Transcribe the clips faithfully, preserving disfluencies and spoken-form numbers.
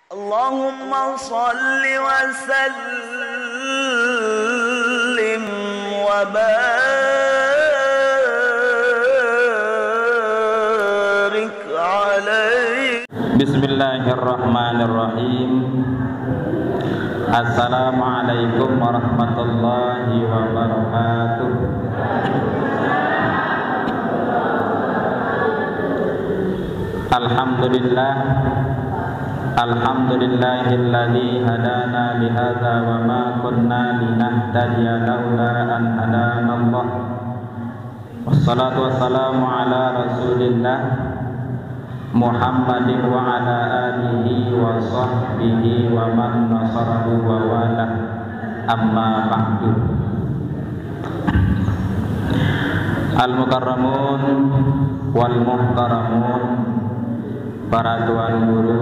اللهم صل وسلم وبارك عليه. Bismillahirrahmanirrahim. Assalamualaikum warahmatullahi wabarakatuh. Alhamdulillah. Alhamdulillahilladzi hadana lihadza wa ma kunna linahtadiya laula an hadanallah. Wassalatu wassalamu ala Rasulillah Muhammadin wa ala alihi wa sahbihi wa man nasarahu wa walah. Amma ba'du. Al-mukarramun wal muhtaramun, para tuan guru,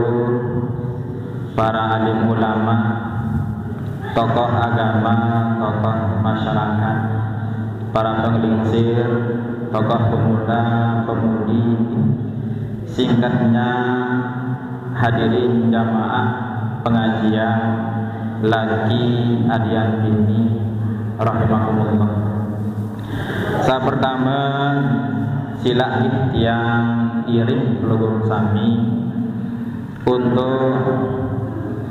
para alim ulama, tokoh agama, tokoh masyarakat, para penglingsir, tokoh pemuda, pemudi, singkatnya hadirin jamaah pengajian laki adian bini rahimakumullah. Sa pertama, sila nggih tiang iring pelungguh sami untuk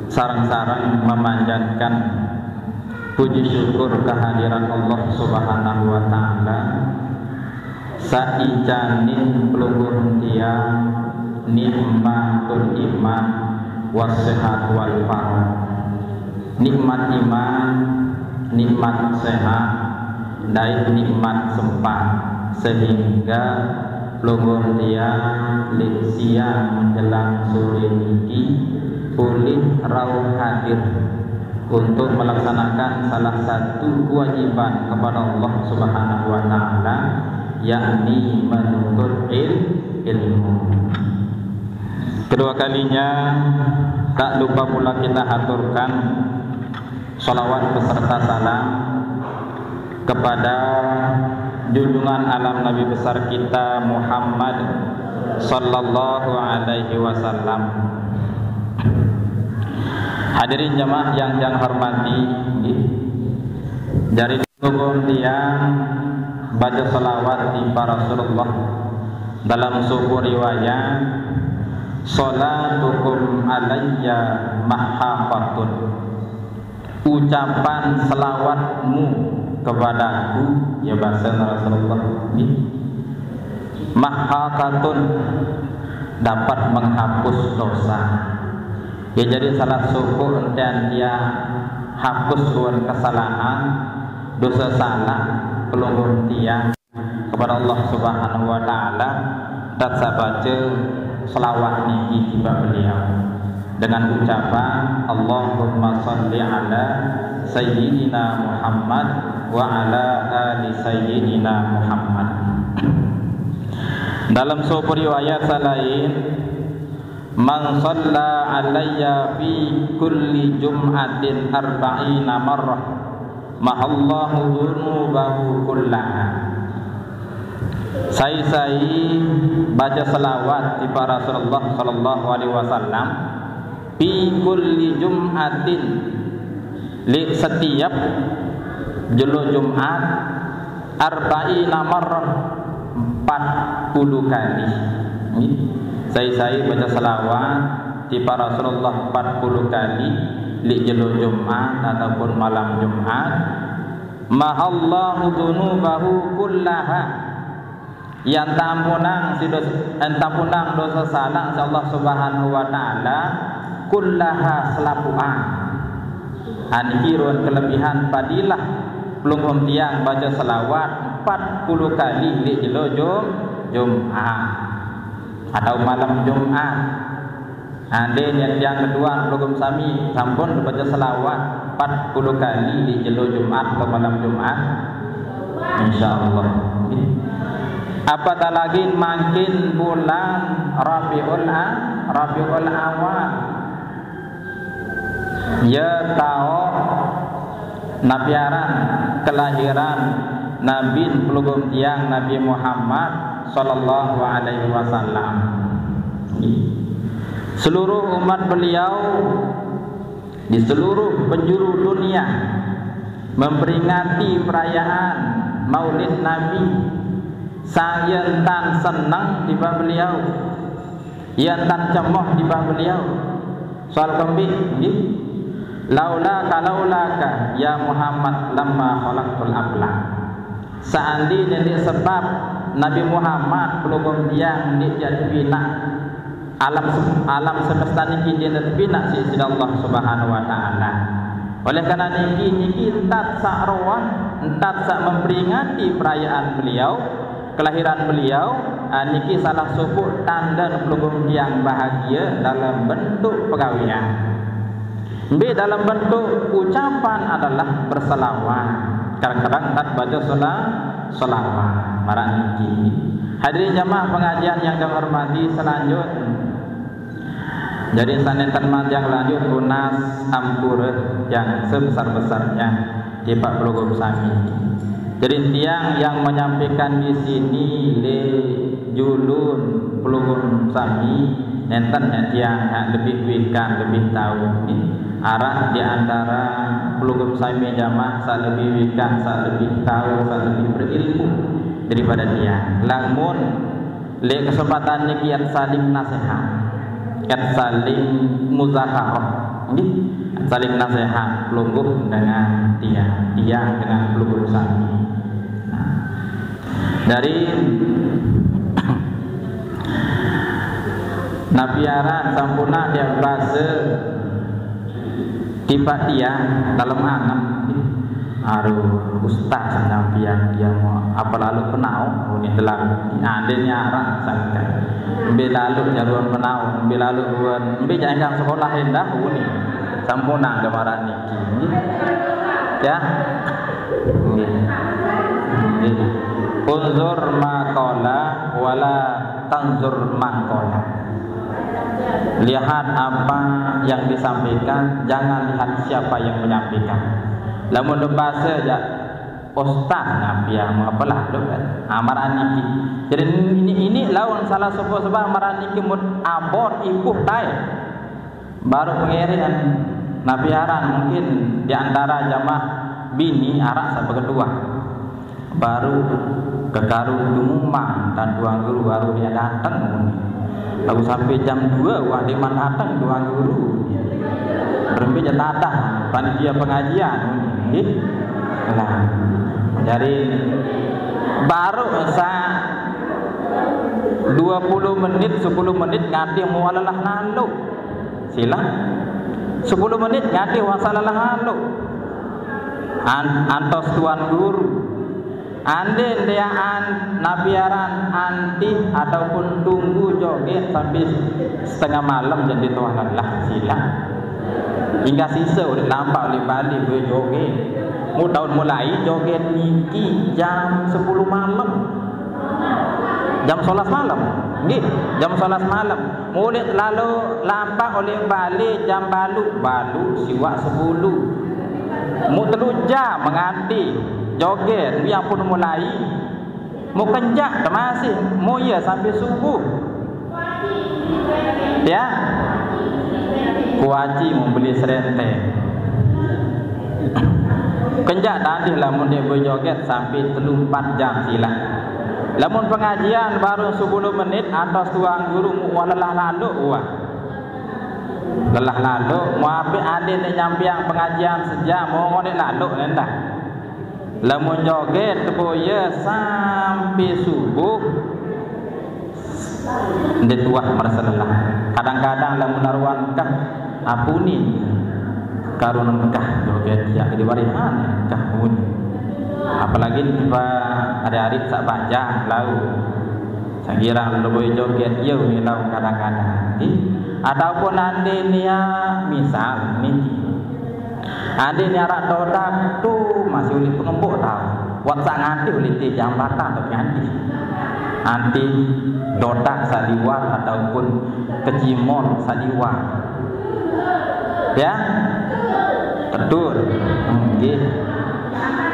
sareng-sareng memanjatkan puji syukur kehadiran Allah Subhanahu wa taala. Saicaning pelungguh tiang nikmatul iman was sehat wal farah. Nikmat iman, nikmat sehat, dait nikmat sempat, sehingga pelungguh tiang lek siang menjelang sore niki pulih rauh hadir untuk melaksanakan salah satu kewajiban kepada Allah Subhanahu wa taala, yakni menuntut il- ilmu. Kedua kalinya, tak lupa pula kita haturkan salawat beserta salam kepada junjungan alam Nabi besar kita Muhammad sallallahu alaihi wasallam. Hadirin jamaah yang yang hormati, nggih. Jari pelungguh tiang baca salawat di Rasulullah dalam sebuah riwayat, "Salatukum alayya mahhaqatun." Ucapan selawatmu kepadaku, ya, bahasa Rasulullah ini, mahhaqatun, dapat menghapus dosa. Ya, jadi salah suku entian dia hapus ruan kesalahan, dosa salah pelungguh tiang kepada Allah Subhanahu wa taala, dan saya baca selawat niki tiba beliau dengan ucapan, "Allahumma salli ala sayyidina Muhammad wa ala ali sayyidina Muhammad." Dalam sebuah riwayat selain, "Man salla alayya fi kulli jum'atin arba'ina marrah, mahallahu dzunubahu kullaha." Sai-sai baca selawat di Rasulullah sallallahu alaihi wasallam, fi kulli jum'atin, di setiap jelo Jumat, arba'ina marrah, empat puluh kali. Sai-sai baca selawat di Rasulullah empat puluh kali di jelo Jumat ataupun malam Jumat, mahallahu dzunubahu kullaha, yang tampunang si dosa, yang tampunang dosa salah si Allah Subhanahu wa taala, kullaha, selapuan. Aniki ruan kelebihan padilah pelungguh tiang baca selawat empat puluh kali di jelo Jum- Jumat atau malam Jumat. Ande niat tiang kedua pelungguh sami sampun baca selawat empat puluh kali di jelo Jumat atau malam Jumat, insyaallah. Apatah lagi makin bulan Rabiul A- Rabiul Awal. Ya, tau napi aran kelahiran Nabi pelungguh tiang, Nabi Muhammad sallallahu alaihi wasallam. Seluruh umat beliau di seluruh penjuru dunia memperingati perayaan Maulid Nabi. Sang yen tan seneng tiba beliau, yen tan cemoh tiba beliau. Soal kembik, nggih. Laula ka, laula ka, ya Muhammad, lamma khalaqtul aflak. Seandainya ndeq sebab Nabi Muhammad, pelungguh tiang, ndeq jaq tepinak alam se-, alam semesta niki ndeq tepinak siq, siq Allah Subhanahu wa Ta'ala. Oleh karena niki, niki entat saq roan, entat saq memperingati perayaan beliau, kelahiran beliau, ah, niki salah sopoq tanden pelungguh tiang bahagie dalam bentuk pegawean. Mbe dalam bentuk ucapan adalah berselawat. Kadang-kadang entat baca sela-, selawat. Maraq niki. Hadirin jamaah pengajian yang kami hormati, selanjut Jadi, sanenten manjang lanjut tunas ampure yang sebesar-besarnya tipaq pelungguh sami. Jadi, tiang yang menyampaikan di sini le julun pelungguh sami, nenten ya tiang ya lebih wikan, lebih tahu ni. Araq di antara pelungguh sami jamaah saq lebih wikan, saq lebih tahu, saq lebih berilmu daripada tiang. Lamun leq kesempatan niki et saling nasehat, et saling muzakarah. Nggih, et saling nasehat, pelungguh dengan tiang, tiang dengan pelungguh sami. Nah, dari napi aran sampun tiang base tipaq tiang dalem angen. Aduh, ustaz, sampiyan tiang mau ape lalo penau, muni telang. Ande nyarak sangkan. Mbe lalo jaruan penau, mbe lalo ruan, mbe jangkang sekolah endah, muni. Sampunang gemaran niki. Ya. Nggih. Nggih. Unzur ma qala wala tanzur man qala. Lihat apa yang disampaikan, jangan lihat siapa yang menyampaikan. Lamun bebase jaq ustaz napi ya, mengapa lah tu kan? Ah, maraq niki. Jadi ini, ini lawan salah sapa sebab maraq niki mut abot ibuh tai. Baru pengirian napi aran mungkin di antara jamaah bini araq saq beketuah. Baru kekaru dumuman dan tuan guru baru dia dateng. Lalu sampai jam dua wah dia man dateng tuan guru. Berembe je tadah panitia pengajian nggih. Nah, jadi baru sa dua puluh menit, sepuluh menit nganti mualelah naluk. Silaq. Sepuluh menit nganti wasalalah naluk. An-, antos tuan guru. Ande ndeqan napi aran antih ataupun tunggu joget sampai setengah malam jaq ndeq tuah lelah, silaq. Hingga sisa uleq lampaq uleq bale bejoget. Mu taun mulai joget niki jam sepuluh malam. Jam sebelas malam. Nggih, jam sebelas malam. Muleq lalo lampaq uleq bale jam baluq, baluq siwaq sepuluh. Mu telu jam nganti joget, mu ya pun mulai. Mu kenjaq temasih, mu ye sampai subuh. Ya. Kuaci mu beli serenteng. Kenjaq tadih lamun ndeq bejoget sampai telu empat jam silaq. Lamun pengajian baru sepuluh menit, antos tuan guru mu wah lelah lalo wah. Lelah lalo, mu apik ande ndeq nyampeang pengajian sejam, mu ngoneq lalo endah. Lamun joget teboye sampai subuh, ndeq tuah merase lelah. Kadang-kadang lamun aruan engkah, apuni karun engkah joget jaq di warihan engkah muni. Apalagi tiba hari-hari saq bajang lau. Saq girang leboy joget, ye milau kadang-kadang. Nggih. Ataupun ande nia misal niki. Ande nia araq todak tu masih uleq pengembuk tau. Wat saq nganti uleq ti jambatan tu nganti. Anti todak saq liwat ataupun kecimol saq liwat. Ya. Betul. Nggih.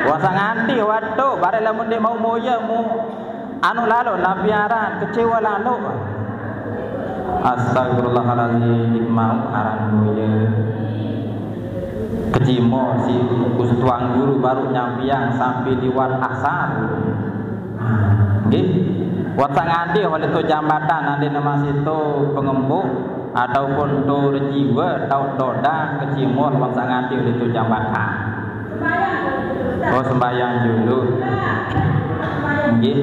Wat saq nganti waktu bareng lamun ndeq mauq moye mu anu lalo napi aran kecewa lalo. Astagfirullahalazim, mau aran boye. Kecimol si Gus Tuan Guru baru nyampiang sampai liwat asar. Nggih. Wat sak nganti oleh to jambatan nanti nama situ pengembuk ataupun to rejiwa tau doda kecimol wat sak nganti oleh to jambatan. Oh, sembahyang dulu. Nggih.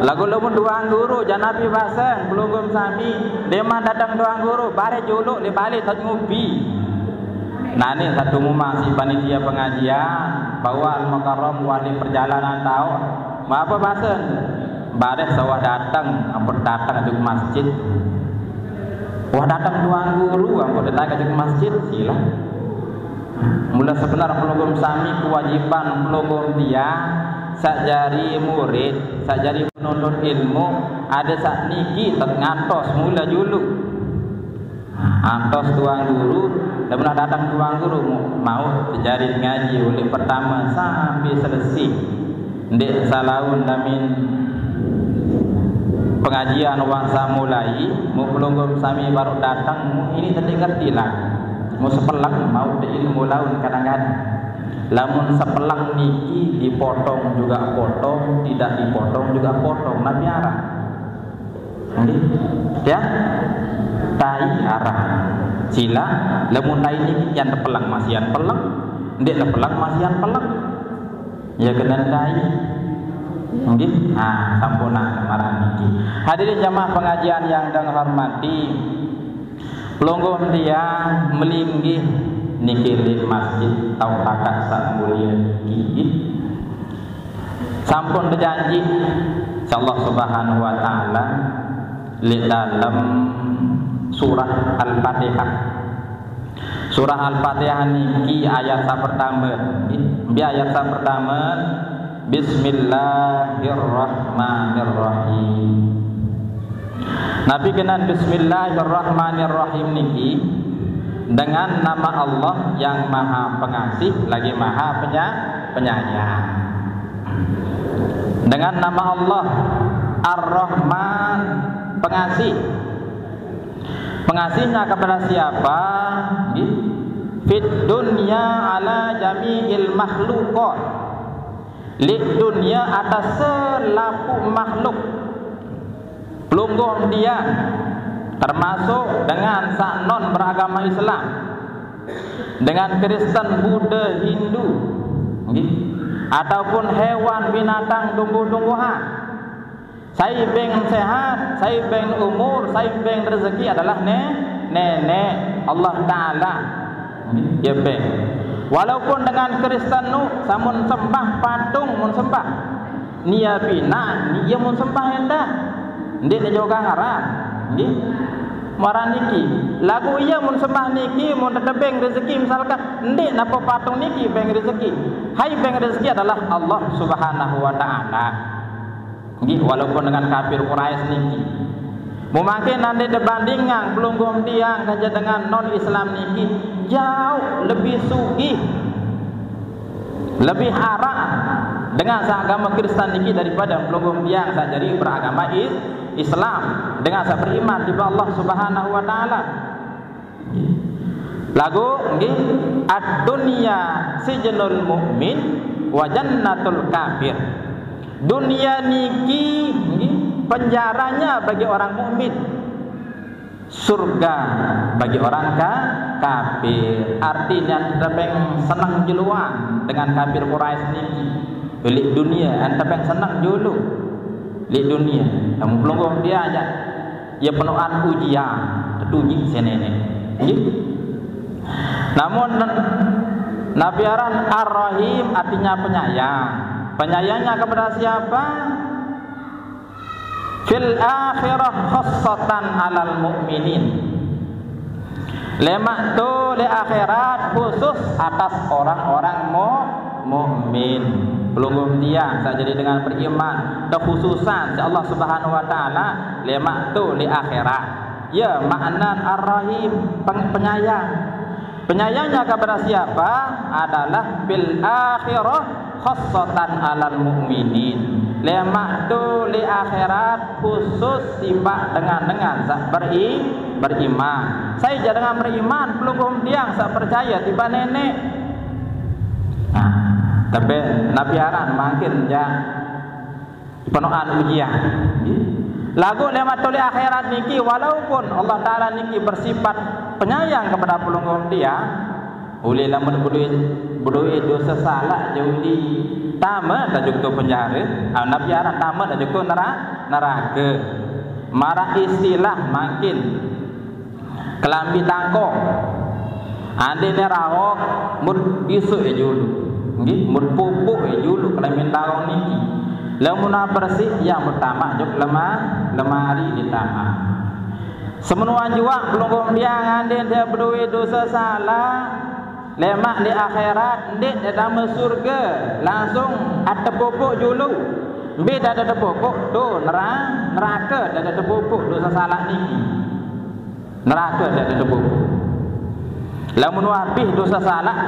Lagu lamun Tuan Guru, janapi baseng, pelungguh sami, deman datang Tuan Guru, bare juluk, le balik tak ngupi. Nah, ini satu mumang si panitia pengajian, bahwa Al-Mukarram wali perjalanan tahu. Apa baseng? Bare sawah datang, ampun datang ke masjid. Wah, datang Tuan Guru, ampun datang ke masjid, sila. Mula sebenar pelungguh sami kewajiban pelungguh dia, sak jari murid, sak jari menuntut ilmu, ada sak niki tak ngantos mula juluk. Antos Tuan Guru, dah pernah datang Tuan Guru, mau terjadi ngaji oleh pertama sampai selesai. Ndik salaun damin pengajian wang samulai, mu pelungguh sami baru datang, mu ini tadi ngerti lah. Mu sepelang mau ilmu laun kadang-kadang. Lamun sepelang niki dipotong juga potong, tidak dipotong juga potong. Nabi arah. Nggih. Ya. Tai arah. Sila, lamun tai niki yang tepelang masih yang peleng, ndik tepelang masih yang peleng. Ya kena tai. Nggih. Ah, sampun marah niki. Hadirin jamaah pengajian yang dengan hormati. Pelungguh dia melinggih niki di masjid tau kakak sak mulia niki. Sampun berjanji insyaallah subhanahu wa ta'ala li dalam surah Al-Fatihah. Surah Al-Fatihah niki ayat sa pertama. Bi ayat sa pertama, Bismillahirrahmanirrahim. Nabi kenan Bismillahirrahmanirrahim niki dengan nama Allah yang Maha Pengasih lagi Maha Penyayang. Dengan nama Allah Ar-Rahman, pengasih. Pengasihnya kepada siapa? Fit dunya ala jami'il makhluqat. Lik dunia atas selapuq makhluk. Pelungguh dia termasuk dengan sak non beragama Islam, dengan Kristen, Buddha, Hindu, nggih, ataupun hewan, binatang, tumbuh-tumbuhan. Sai beng sehat, sai beng umur, sai beng rezeki adalah ne-, nenek Allah Ta'ala. Ya beng. Walaupun dengan Kristen nu samun sembah patung mun sembah. Nia pina, nia mun sembah endah. Ndik ne jogang aran. Nggih. Maran niki. Lagu iya mun sembah niki, mun tetebeng rezeki misalkan, ndik napa patung niki beng rezeki. Hai beng rezeki adalah Allah Subhanahu wa Ta'ala. Nggih, walaupun dengan kafir Quraisy niki. Mungkin nanti dibandingkan pelungguh tiang saja dengan non Islam niki jauh lebih sugih, lebih arah dengan seagama Kristen niki daripada pelungguh tiang saja beragama Is-, Islam dengan saya beriman di Allah Subhanahu wa Ta'ala. Lagu nggih, ad-dunya sijnul mu'min wa jannatul kafir. Dunia niki nggih, penjaranya bagi orang mukmin. Surga bagi orang ka-, kafir. Artinya tebeng senang juluan dengan kafir Quraisy niki. Lik dunia, tebeng senang julu. Lik dunia. Kamu pelungguh dia aja. Ya penuhan ujian, tetunjuk senene. Nggih. Namun Nabi aran Ar-Rahim artinya penyayang. Penyayangnya kepada siapa? Fil akhirah khassatan alal mu'minin. Lemak tu le akhirat khusus atas orang-orang mu-, mukmin. Pelungguh tiang, tak jadi dengan beriman, kekhususan si Allah Subhanahu wa Ta'ala, lemak tu le akhirat. Ya, makna Ar-Rahim, peng-, penyayang. Penyayangnya kepada siapa? Adalah bil akhirah khassatan alal mu'minin. Lemak tu leq akhirat khusus tipaq dengan-dengan saq beri-, beriman. Sai jaq dengan beriman, pelungguh tiang saq percaye tipaq Neneq. Nah, tebe Nabi aran mangkin jaq penoqan ujian. Laguq lemaq tu leq akhirat niki, walaupun Allah Taala niki bersifat penyayang kepada pelungguh tiang, ulih lamun bedoe, bedoe dose salaq jaq ulih tame tajuk tu penjare, ah, Nabi aran tame tajuk tu nera-, nerake. Maraq istilah mangkin, kelambi tangkong. Andene raok, mut bisoq e julu. Nggih, mut pupuk e julu kelambi tangkong niki. Lamun bersih, ya mut tamaq juk lema-, lemari ditamaq. Semenoan juaq pelungguh tiang andene bedoe dose salaq, lemaq leq akhirat, ndeq de tame surge, langsung atepupuk julu. Mbe de atepupuk, tu nera-, nerake de atepupuk dose salaq niki. Nerake de atepupuk. Lamun wah bih dose salaq,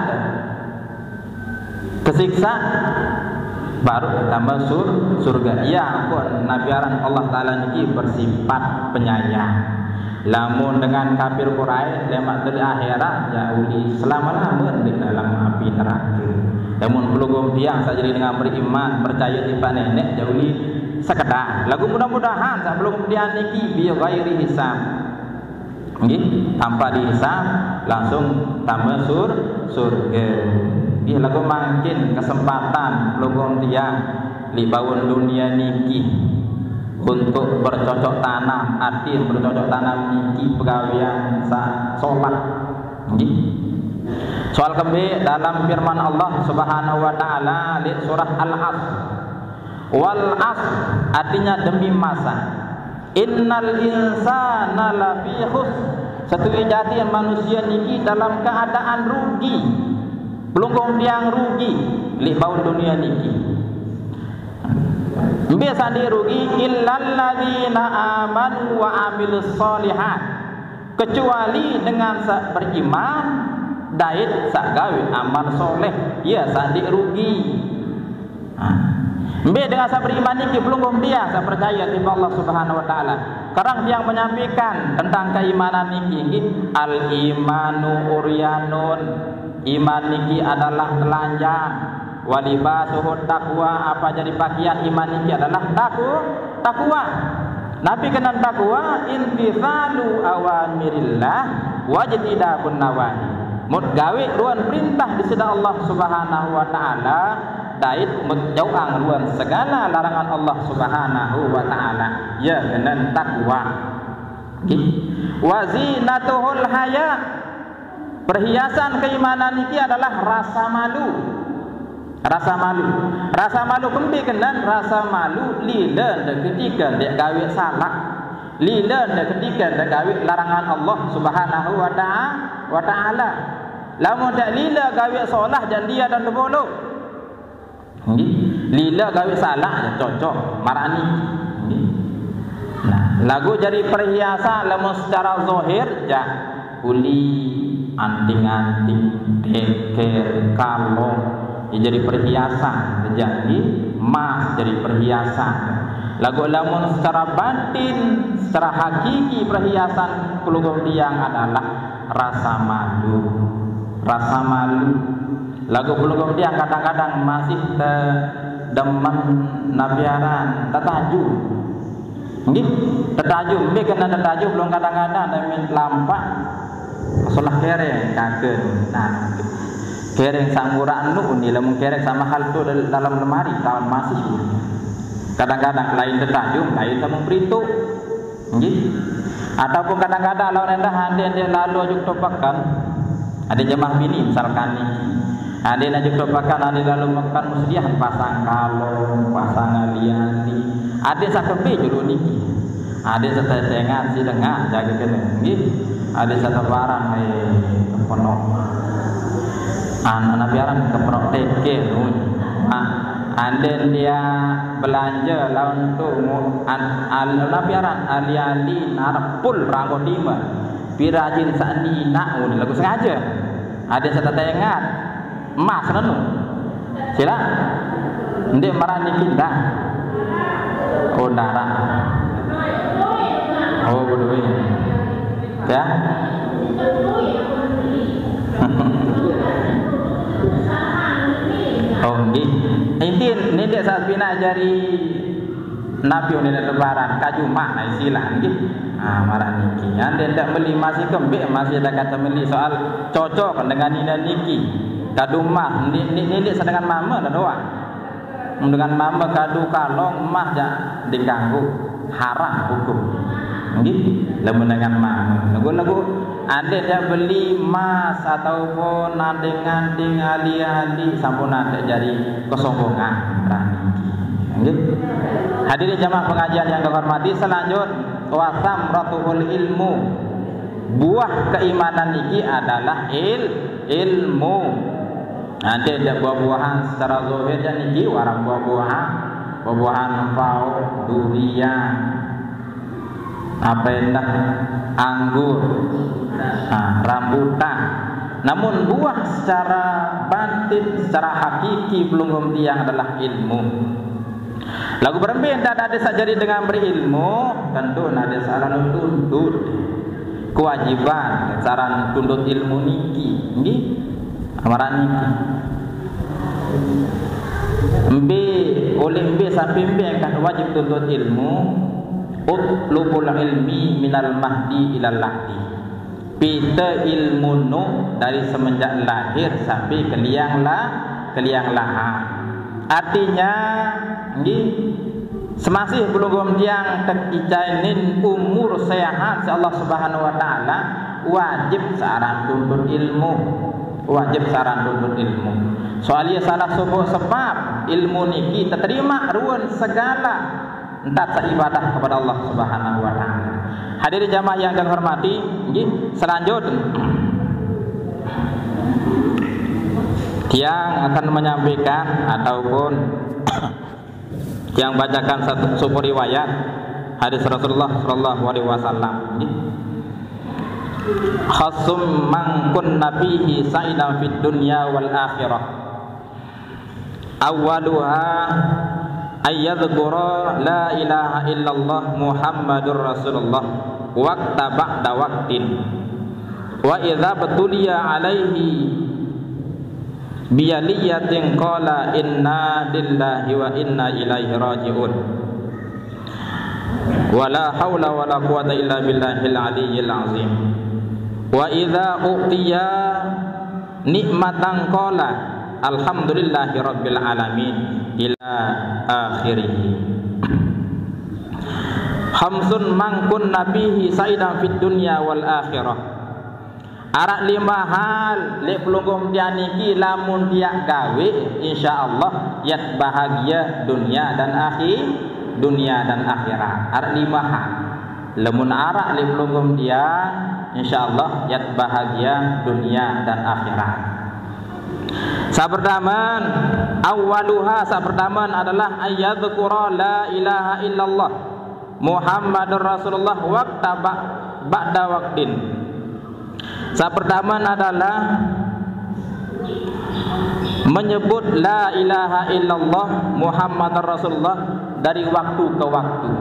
tesiksa, baruq tame sur-, surge. Iya, ampun, Nabi aran Allah Taala niki bersifat penyayang. Lamun dengan kafir Quraisy, lemaq tu leq akhirat, jaq ulih selame-lame leq dalem api nerake. Lamun pelungguh tiang saq jari dengan beriman, percaye tipaq Neneq, jaq ulih sekedar. Laguq mudah-mudahan saq pelungguh tiang niki bi ghairi hisab. Nggih, tanpa dihisab, langsung tame sur-, surge. Nggih, laguq mangkin kesempatan pelungguh tiang leq baun dunie niki untuk bercocok tanam, artin bercocok tanam niki pegawean saq solah. Nggih. Soal kembe dalem firman Allah Subhanahu wa Taala leq surah Al-Asr. Wal asr, artinya demi masa. Innal insana lafi khusr. Setuju jati manusie niki dalam keadaan rugi. Pelungguh tiang rugi leq baun dunie niki. Mbe saq ndeq rugi? Illalladzina amanu wa amilus sholihat. Kecuali dengan saq beriman dait saq gawe amal soleh, ie saq ndeq rugi. Nah, mbe dengan saq beriman niki? Pelungguh tiang saq percaye tipaq Allah Subhanahu wa Taala. Sekarang tiang menyampaikan tentang keimanan niki, nggih. Al imanu uryanun. Iman niki adalah telanjang. Wa libasuhu taqwa, apa jari pakian iman niki adalah taku-, takwa. Napi kenan takwa? Imtitsalu awamirillah wajtinabun nawahi. Mut gawe ruen perintah Deside Allah Subhanahu wa Taala, dait mut jauqang ruen segala larangan Allah Subhanahu wa Taala. Ie kenan takwa. Nggih. Wa zinatuhul haya. Perhiasan keimanan niki adalah rasa malu. Rasa malu. Rasa malu kembe kenan? Rasa malu lile ndeq ketike ndeq gawe salaq. Lile ndeq ketike ndeq gawe larangan Allah Subhanahu wa ta'a-, wa ta'ala. Lamun ndeq lile gawe solah, jaq ndie tebolo. Nggih. Lile gawe salaq, jaq cocok, maraq niki. Nggih. Nah, laguq jari perhiasan lamun secara zahir, jaq kuli, anting-anting, teker, kalong, ie jari perhiasan, jaq nggih, emas jari perhiasan. Laguq lamun secara batin, secara hakiki perhiasan pelungguh tiang adalah rasa malu. Rasa malu. Laguq pelungguh tiang kadang-kadang masih tedemen napi aran, tetaju. Nggih, tetaju, mbe kenan tetaju? Pelungguh kadang-kadang demen lampaq solah kereng kake. Nah, kereng saq murah enu ni, lamun kereng saq mahal tu dal-, dalem lemari, taun masih. Kadang-kadang lain tetaju, lain saq mung perituq. Nggih. Ataupun kadang-kadang laun endah ande-ande lalo juk to peken. Ade jemaah bini misalkan niki. Ande naju to peken, ande lalo meken, mesedian pasang kalong, pasang ali-ali. Ade saq kembe julu niki. Ade saq tetengan, siq dengan jage kene. Nggih. Ade saq tebarang, eh, kepenoq. An-, napi aran kepenoq teke, nun. Ah, ande ndia belanje laun tu, mu-, an-, al-, napi aran ali-ali narep pul ranggo dime. Pire ajin saq ninaq, mun laguq sengaje. Ade saq tetengan, emas nenu. Silaq. Ndeq maraq niki dah. Oh, ndarah. Oh, beduit. Ya. Oh, nggih. Inti ndeq saq binaq jari napi unin lebaran, kaju mah istilah nggih. Ah, maraq niki. Andai ndeq meli masih kembeq, masih ada kata meli soal cocok dengan nine niki. Kadu mah, ni, ni, ni, ni sedengan mame dah doang. Dengan mame kadu kalong mah jaq diganggu, haram hukum. Nggih, lamun dengan mame. Lagu-lagu andai dia beli emas ataupun anding-anding ali-ali sampun andai jari kesombongan. Nggih. Hadirin jamaah pengajian yang kami hormati, selanjut wasamratuhul ilmu. Buah keimanan niki adalah il-, ilmu. Nah, ndeq buah-buahan secara zahir jaq niki, warang buah-buahan, buah-buahan empau, durian, apa endah, anggur, nah, rambutan. Namun buah secara batin, secara hakiki pelungguh tiang adalah ilmu. Laguq berembe ndeq ade saq jari dengan berilmu, tentu ndeq ade saq lalo tuntut. Kewajiban saq aran tuntut ilmu niki, nggih? Maraq niki. Mbe, oleh mbe sampai mbe engkah wajib tuntut ilmu? Utlubul ilmi minal mahdi ilal lahdi. Pite ilmu nu dari semenjak lahir sampai ke liang la-, ke liang lahat. Artinya, nggih, semasih pelungguh tiang tekicanin umur sehat siq Allah Subhanahu wa Ta'ala, wajib saq aran tuntut ilmu. Wajib saq aran tuntut ilmu. Soal ie salah sopoq sebab ilmu niki teterimaq ruen segala ntat saq ibadah kepada Allah Subhanahu wa Ta'ala. Hadirin jamaah yang kami hormati, nggih, selanjut tiang akan menyampaikan ataupun tiang bacakan satu, sebuah riwayat hadis Rasulullah sallallahu alaihi wasallam, nggih. Khamsun man kunna fihi sa'ida fid dunya wal akhirah. Awwaluha ayyadzkura la ilaha illallah Muhammadur Rasulullah waqta ba'da waqtin. Wa idza btuliya alaihi biyaliyatin qala inna lillahi wa inna ilaihi raji'un. Wa la haula wa la quwwata illa billahil aliyyil azim. Wa idza u'tiya nikmatan qala alhamdulillahi rabbil alamin ila akhirih. Khamsun man kunna fihi sa'ida fid dunya wal akhirah. Araq lime hal leq pelungguh tiang niki lamun tiang gawe, insyaallah yat bahagia dunia dan akhi-, dunia dan akhirat. Araq lime hal. Lamun araq leq pelungguh tiang, insyaallah yat bahagia dunia dan akhirat. Saq pertamen, awwaluha, saq pertamen adalah ayyadzkura la ilaha illallah Muhammadur Rasulullah waqta ba-, ba'da waqtin. Saq pertamen adalah menyebut la ilaha illallah Muhammadar Rasulullah dari waktu ke waktu.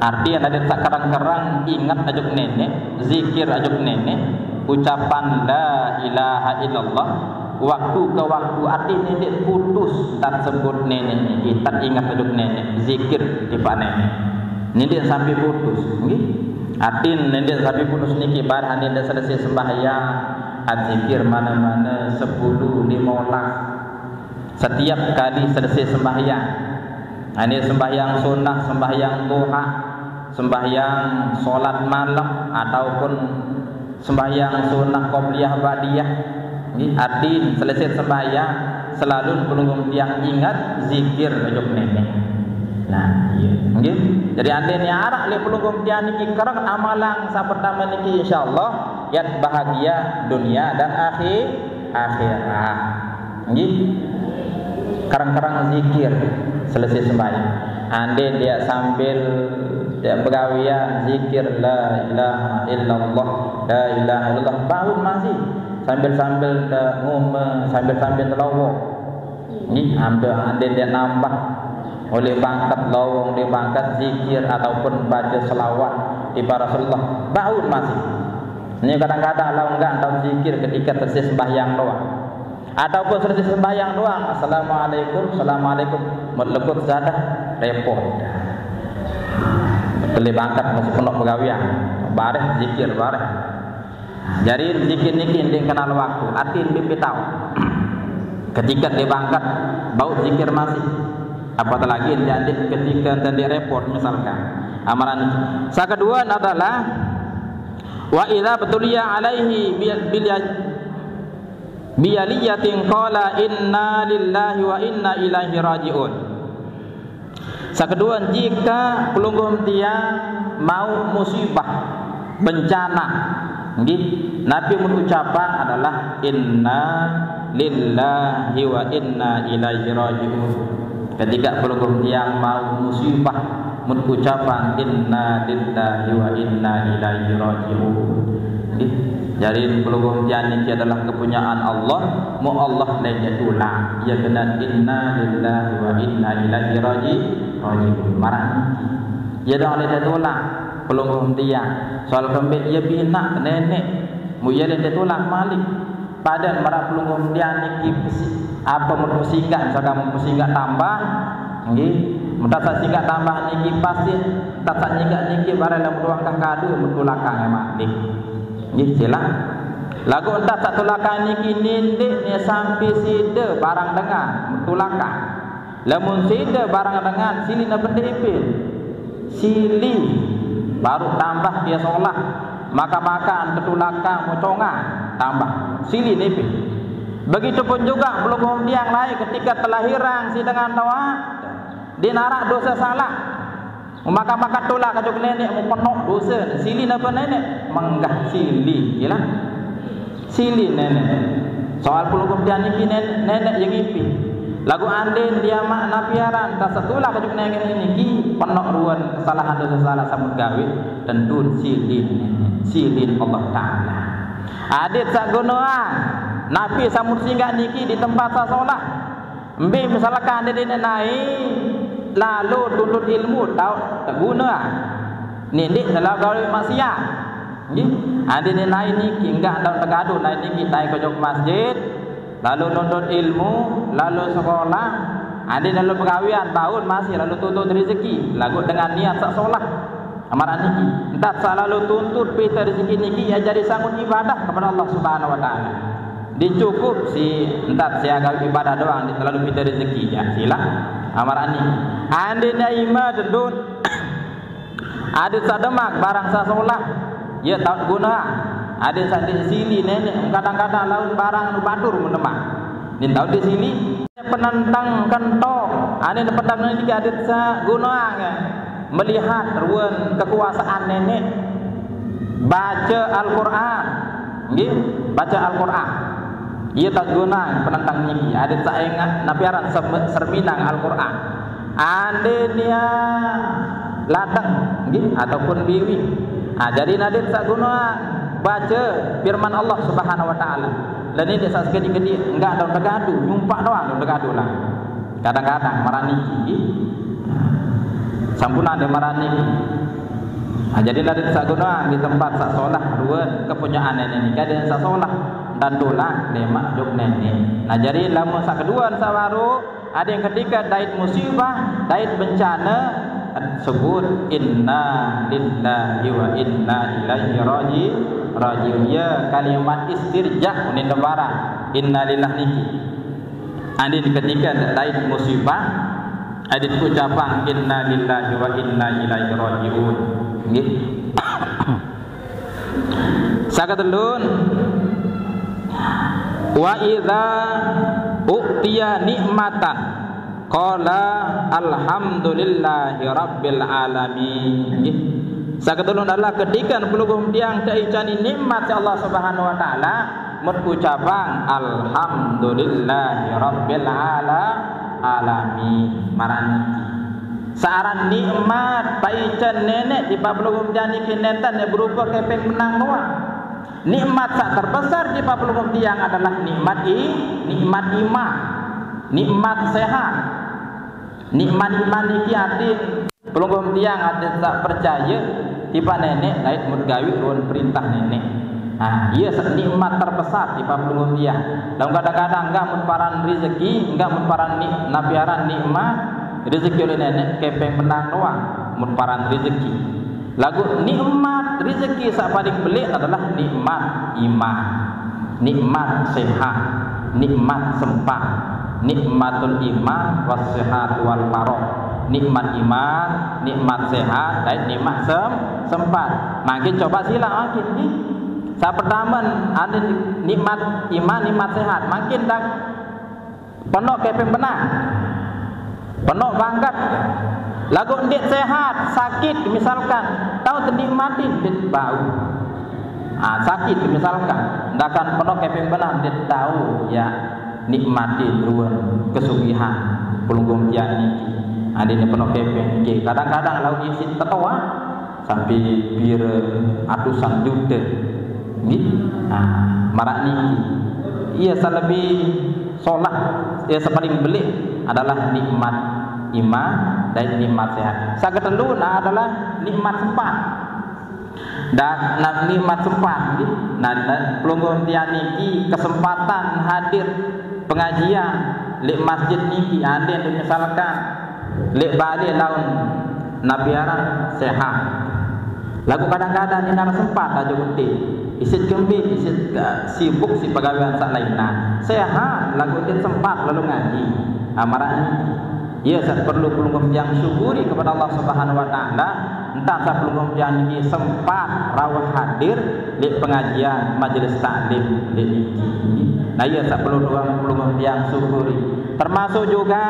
Arti adalah saq kereng-kereng inget ojok neneq, zikir ojok neneq, ucapan la ilaha illallah waktu ke waktu, arti neneq putus, tat sebut neneq niki, tat inget ojok neneq, zikir tipaq neneq. Neneq sampai putus, nggih. Arti neneq sampai putus niki, barang neneq selesai sembahyang, adzikir mane-mane sepulu, lime olas. Setiap kali selesai sembahyang, ane sembahyang sunnah, sembahyang duha, sembahyang salat malem, ataupun sembahyang sunnah qobliyah ba'diyah, nggih, artin selesai sembahyang, selalu pelungguh tiang inget zikir ojok neneq. Nah, iya, nggih. Jadi, andene araq leq pelungguh tiang niki kereng amalan saq pertame niki, insyaallah yat bahagia dunia dan akhir-, akhirat. Nggih. Kereng-kereng zikir selesai sembahyang. Andai dia sambil dia begawean zikir la ilaha illallah, la ilaha illallah, baun masih sambil-sambil dia ngume, sambil-sambil telowo. Nggih, ambil andai dia nambah. Oleh bangkat lowong, oleh bangkat zikir ataupun baca selawat di Rasulullah, baun masih. Ini kadang-kadang lawong enggak tahu zikir ketika selesai sembahyang doang. Ataupun selesai sembahyang doang, "Assalamualaikum, assalamualaikum." Melekut sadah, repot. Oleh bangkat masih penuh pegawian. Bareh zikir, bareh. Jadi zikir niki ndin kenal waktu, atin bibi tahu. Ketika dia bangkat, bau zikir masih. Apalagi jadi ketika tadi repot misalkan. Amalan niki. Yang kedua adalah, "Wa idza btuliya alaihi bi-, bil-, biyaliyatin qala inna lillahi wa inna ilaihi raji'un." Yang kedua, jika pelungguh tiang mau musibah, bencana, nggih, napi mun ucapan adalah inna lillahi wa inna ilaihi raji'un. Ketika pelungguh tiang mau musibah, mun ucapan inna lillahi wa inna ilaihi raji'un. Nggih. Jadi pelungguh tiang niki adalah kepunyaan Allah, mu Allah lain dia tulak. Ia kena inna lillahi wa inna ilaihi raji-, raji'un. Marah niki. Ia dah lain dia tulak. Pelungguh tiang. Soal kembali ia bina nenek. Mu ia lain dia tulak malik. Padan marah pelungguh tiang niki pesi-, apa mun pesinggah, misalkan mun pesinggah tambah, nggih. Mun tak singgah tambah niki pasti, tak singgah niki barang dalam ruang kadu, mun tulakang malik. Nggih, sila. Lagu entah satu lakang niki nindik ni sampai sida barang dengan, tulakang. Lamun sida barang dengan, silih na benda ipin. Silih. Baru tambah dia solah. Maka-maka anta tulakang muconga. Tambah. Silih nipin. Begitupun juga pelungguh tiang lain ketika terlahirang si dengan tawa. Dia narak dosa salah. Maka-maka tulak kajuk nenek mu penuh dosa. Silih napa nenek? Menggah silih, ya lah. Silih nenek. Soal pelungguh tiang niki nen-, nenek yang ipi. Lagu andin dia mak napiaran, tak setulah kajuk nenek niki, penuh ruan kesalahan dosa salah samut gawe, tentun silih nenek. Silih Allah Ta'ala. Adit sak gunoa, napi samut singgah niki di tempat sasolah. Mbe misalkan dia dene nai lalu tuntut ilmu tau tak guna. Nindik dalam gawe maksiat. Nggih. Adi ni nai niki enggak tau tegadu nai niki tai ke jok masjid, lalu nuntut ilmu, lalu sekolah, adi lalu pegawian, baun masih lalu tuntut rezeki, lagu dengan niat sak solah. Amaran niki, entah selalu tuntut pita rezeki niki ia jadi sangun ibadah kepada Allah Subhanahu wa Ta'ala. Dicukup si entah siaga ibadah doang, di terlalu pita rezeki ya, sila. Amaran niki. Andi na ima dendun. Adit sademak barang sasolah. Ya tak guna. Adit sadik sili nenek, kadang-kadang laun barang nu batur menemak. Din tahu di sili. Penentang kentok. Ane penentang niki adit sa guna ya. Melihat ruan kekuasaan nenek. Baca Al-Quran. Nggih, baca Al-Quran. Ia tak guna penentang niki. Adit sa ingat napi aran sem-, serminang Al-Quran. Ande nia ladang, nggih, ataupun biwi. Ah, jadi nadit sa guna baca firman Allah Subhanahu wa Ta'ala. Dan ini sa sekedi-kedi enggak ada tegadu, nyumpak doang ada tegadu lah. Kadang-kadang marani, nggih. Sampun ada marani. Ah, jadi nadit sa guna di tempat sa solah, dua kepunyaan nenek nikah dengan sa solah. Dan dolah, lemak jok nenek. Nah, jadi lamun sa kedua sa baru, ada yang ketika dait musibah, dait bencana, sebut inna lillahi wa inna ilaihi raji-, rajiun. Ya, kalimat istirja, unin lebaran. Inna lillah niki. Andin ketika dait musibah, adit ucapan inna lillahi wa inna ilaihi rajiun. Nggih. Sakatelun, wa idza u'tiya nikmatan qala alhamdulillahi rabbil alamin. Nggih. Sakatelun adalah ketika pelungguh tiang teicani nikmat si Allah Subhanahu wa Ta'ala, mut ucapan alhamdulillahi rabbil ala-, alamin. Marani. Saaran nikmat paican nenek di papelungguh tiang niki nenten ya berupa kepeng menang doang. Nikmat sak terbesar di papelungguh tiang adalah nikmat i-, nikmat imah, nikmat sehat. Nikmat iman niki atin pelungguh tiang atin saq percaye tipaq Neneq dait mut gaweq ruen perintah Neneq. Nah, ie saq nikmat terbesar tipaq pelungguh tiang. Lamun kadang-kadang enggak mut paran rezeki, enggak mut paran ni-, napi aran nikmat, rezeki oleh Neneq kepeng menang doang mut paran rezeki. Laguq nikmat rezeki saq paling beleq adalah nikmat iman, nikmat sehat, nikmat sempat, nikmatul iman was sehat wal faragh. Nikmat iman, nikmat sehat, dait nikmat sem-, sempat. Mangkin coba silaq mangkin, nggih. Saq pertame, ade nikmat iman, nikmat sehat. Mangkin dang penoq kepeng benah. Penoq bangket. Laguq ndeq sehat, sakit misalkan, tao tenikmatin, ndeq bau. Ah, sakit misalkan, ndakan penoq kepeng benah, ndeq tao, ya, nikmatin ruen kesugihan pelungguh tiang niki. Adine penoq kepeng niki. Kadang-kadang laguq isiq tetoaq sampai pire atusan jute. Nggih. Nah, maraq niki. Ie saq lebih solah, ie saq paling beleq adalah nikmat iman dait nikmat sehat. Saq ketelu, nah, adalah nikmat sempat. Dan, nah, nikmat sempat, nggih. Nah, nah, pelungguh tiang niki kesempatan hadir pengajian leq masjid niki, andin misalkan leq bale laun napi aran sehat. Laguq kadang-kadang ndeq araq sempat aja gete. Isiq kembe, isiq, eh, sibuk siq pegawean saq lainan. Sehat, laguq ndeq sempat lalo ngaji. Nah, maraq niki. Ie saq perlu pelungguh tiang syukuri kepada Allah Subhanahu wa Ta'ala, entah saq pelungguh tiang niki sempat rauh hadir leq pengajian majelis taklim leq niki. Nah, ie saq perlu doang pelungguh tiang syukuri. Termasuk juga,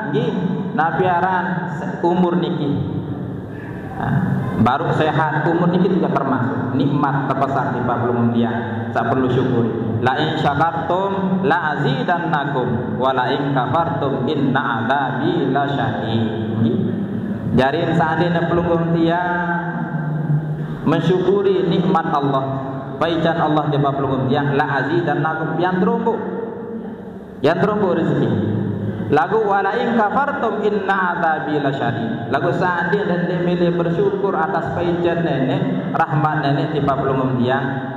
nggih, napi aran se-, umur niki. Nah, baru sehat, umur niki juga termasuk nikmat terbesar tipaq pelungguh tiang saq perlu syukur. La in syakartum la azidannakum wa la in kafartum inna adzabi lasyadid. Nggih. Jarin seandene pelungguh tiang mensyukuri nikmat Allah, paican Allah tipaq pelungguh tiang, la azidannakum, pian teromboq. Yaq teromboq rezeki. Laguq wa la in kafartum inna adzabi lasyadid. Laguq seandene ndeq mele bersyukur atas paican Neneq, rahmat Neneq tipaq pelungguh tiang,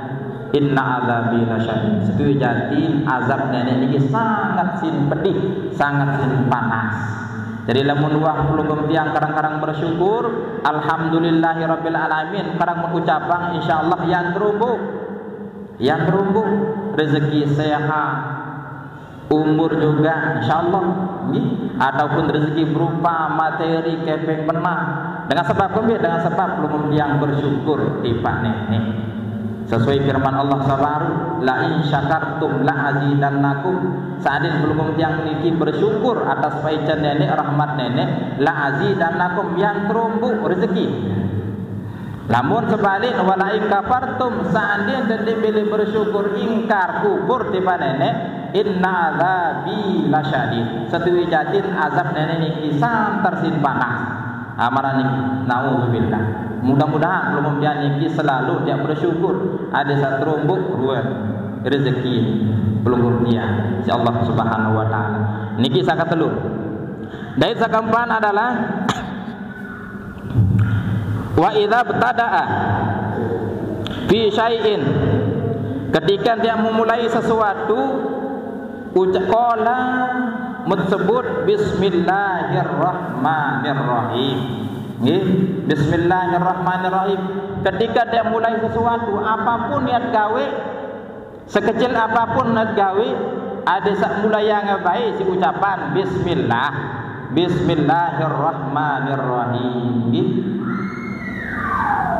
inna adzabi lasyadid. Setuju jatin azab Neneq niki sangat sin pedih, sangat sin panas. Jadi lamun wah pelungguh tiang kadang-kadang bersyukur, alhamdulillahirabbil alamin, kadang mun ucapang, insyaallah yaq teromboq. Yaq teromboq rezeki sehat, umur juga, insyaallah, nggih, ataupun rezeki berupa materi kepeng benah. Dengan sebab kembe? Dengan sebab pelungguh tiang bersyukur tipaq Neneq. Sesuai firman Allah saq baruq, "La in syakartum la azidannakum." Seandene pelungguh tiang niki bersyukur atas paican Neneq, rahmat Neneq, la azidannakum, yaq teromboq rezeki. Lamun sebalik, wala in kafartum, seandene ndeq mele bersyukur, ingkar, kufur tipaq Neneq, inna adzabi lasyadid. Setuju jatin azab Neneq niki santer sin panas. Amarane niki, naudzubillah. Mudah-mudahan pelungguh tiang niki selalu tiang bersyukur, adeq saq teromboq ruen rezeki pelungguh tiang siq Allah Subhanahu wa Ta'ala. Niki saq ketelu. Dait saq keempat adalah wa idza btada'a fi syai'in, ketika dia memulai sesuatu, ucap qala, mut sebut bismillahirrahmanirrahim. Nggih, bismillahirrahmanirrahim. Ketika dia mulai sesuatu, apapun niat gawe, sekecil apapun niat gawe, adeq saq mulayang bae siq ucapan bismillah. Bismillahirrahmanirrahim. Nggih.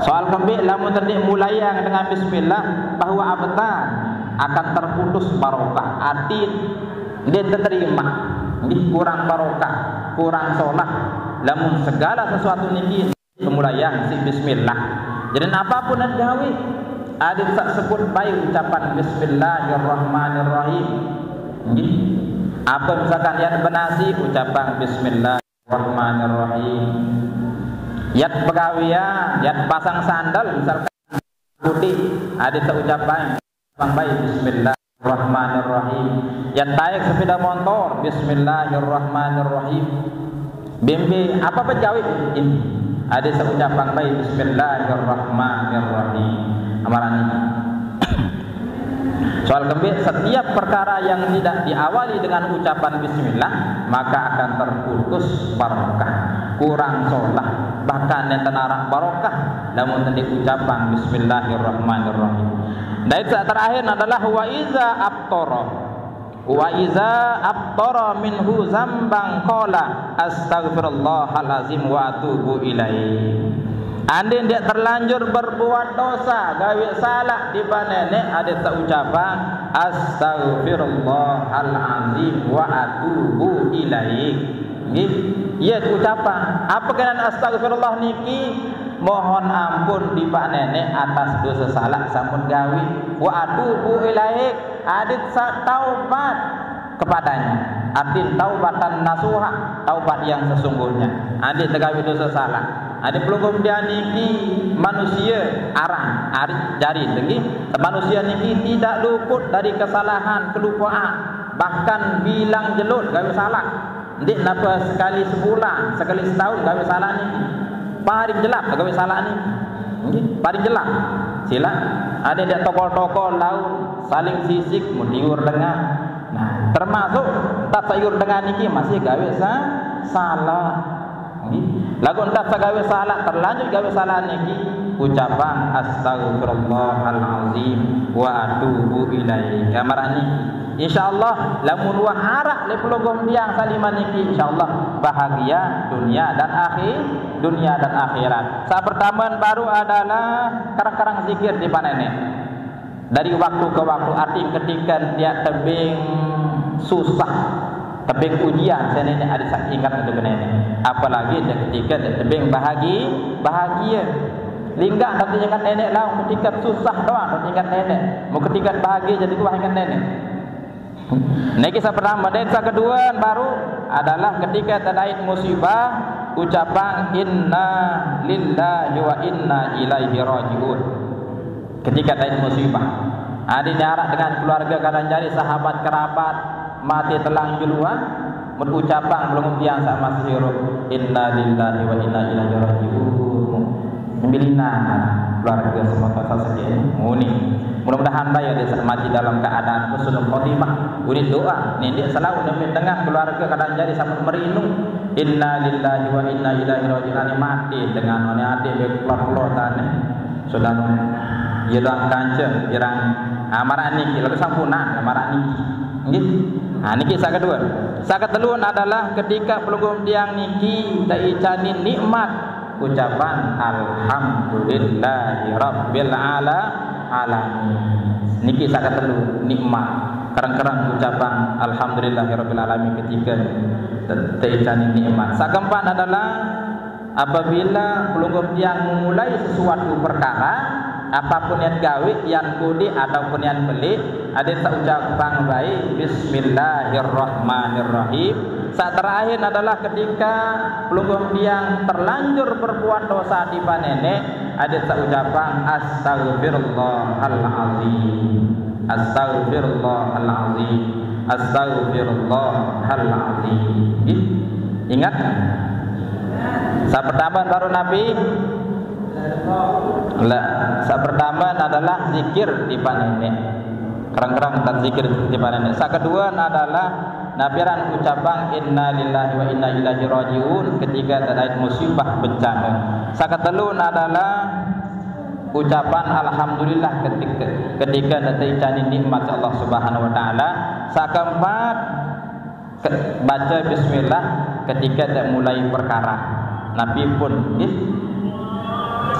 Soal kembe lamun ndeq mulayang dengan bismillah, bahwa abtan akan terputus barokah. Atin ndeq teterima. Nggih, kurang barokah, kurang solah. Lamun segala sesuatu niki Semulayang siq bismillah. Jadi apapun ente gawe, adeq saq sebut bae ucapan bismillahirrahmanirrahim. Nggih. Apa misalkan yat benasi, ucapang bismillahirrahmanirrahim. Yat pegawean, yat pasang sandal misalkan putih, adeq saq ucapang Bang bae, bismillahirrahmanirrahim. Yat taek sepeda motor, bismillahirrahmanirrahim. Bembe apa pejawit ini? Ada seucapan baik, "Bismillahirrahmanirrahim." Amaran ini. Soal kembali, setiap perkara yang tidak diawali dengan ucapan bismillah, maka akan terputus barokah, kurang solah, bahkan yang tenarak barokah, namun tadi ucapan bismillahirrahmanirrahim. Dan yang terakhir adalah wa iza aftara. Wa iza aftara minhu zambang qala astaghfirullahalazim wa atubu ilaih. Andin dia terlanjur berbuat dosa, gawe salah di panene, ada tak ucapan astaghfirullahalazim wa atubu ilaih. Nggih. Iya ucapan. Apa kenan astaghfirullah niki? Mohon ampun di panene atas dosa salah sampun gawe. Wa atubu ilaih. Adit sa taubat kepadanya. Artin taubatan nasuha, taubat yang sesungguhnya. Adit tegawi dosa salah. Adit pelungguh dia niki manusia arang, ari jari lagi. Manusia niki tidak luput dari kesalahan, kelupaan, bahkan bilang jelut gawe salah. Ndik napa sekali sebulan, sekali setahun gawe salah niki. Paling jelap gawe salah niki. Nggih, paling jelap. Sila ada dia tokol-tokol laun saling sisik mutiur dengan. Nah, termasuk tak sayur dengan niki masih gawe sa salah. Nggih. Lagu entah sagawe salah, terlanjur gawe salah niki, ucapan astaghfirullahalazim wa atubu ilaih. Gambaran niki. Insyaallah lamun wah arak le pelungguh tiang saliman niki, insyaallah bahagia dunia dan akhir, dunia dan akhirat. Sa pertama baru adalah karang-karang zikir di panene. Dari waktu ke waktu, arti ketika dia tebing susah, tebing ujian, saya ini ada sak ingat itu kena ini. Apalagi dia ketika dia tebing bahagi, bahagia. Lingga tapi ingat nenek lah, ketika susah doang tapi ingat nenek. Mau ketika bahagia jadi tuah ingat nenek. Niki sa pertama, dan sa kedua baru adalah ketika tadait musibah, ucapan inna lillahi wa inna ilaihi rajiun. Ketika tadait musibah, ada nyarak dengan keluarga kadang jadi sahabat kerabat mati telang juluan, mun ucapan belum tiang sama sehirup inna lillahi wa inna ilaihi rajiun. Sembilina keluarga semua kata sekian muni. Mudah-mudahan daya dia mati dalam keadaan husnul khotimah. Uni doa, nini selalu demi dengan keluarga kadang jadi sama merindu. Inna lillahi wa inna ilaihi rajiun. Ini mati dengan ini adik dia keluar-keluar tanah. Sudah ya doang kanca, jirang amaran niki lalu sampunan amaran niki. Nggih. Nah, niki sa kedua. Sa ketelun adalah ketika pelungguh tiang niki tak icani nikmat ucapan alhamdulillahi rabbil ala alamin. Niki sa ketelu nikmat. Kerang-kerang ucapan alhamdulillahi rabbil alamin ketika te- tak icani nikmat. Sa keempat adalah apabila pelungguh tiang memulai sesuatu perkara, apapun yang gawe, yang kudi ataupun yang beli, ada tak ucapan baik, bismillahirrahmanirrahim. Sa terakhir adalah ketika pelungguh tiang terlanjur berbuat dosa di panene, ada tak ucapan astaghfirullahalazim. Astaghfirullahalazim. Astaghfirullahalazim. Nggih. Ingat? Sa pertama baru Nabi. La, sa pertama adalah zikir di panene. Kerang-kerang dan zikir di panene. Sa kedua adalah napiran ucapan inna lillahi wa inna ilaihi rajiun ketika tadait musibah bencana. Sa ketelu adalah ucapan alhamdulillah ketika ketika nanti icani nikmat Allah Subhanahu wa taala. Sa keempat ke- baca bismillah ketika tak mulai perkara. Nabi pun nggih.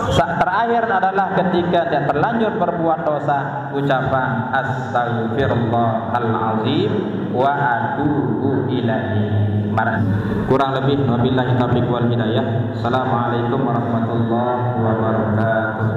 Sa terakhir adalah ketika dia terlanjur berbuat dosa, ucapan astaghfirullahalazim wa atubu ilaih. Marah. Kurang lebih wabillahi taufiq wal hidayah. Assalamualaikum warahmatullahi wabarakatuh.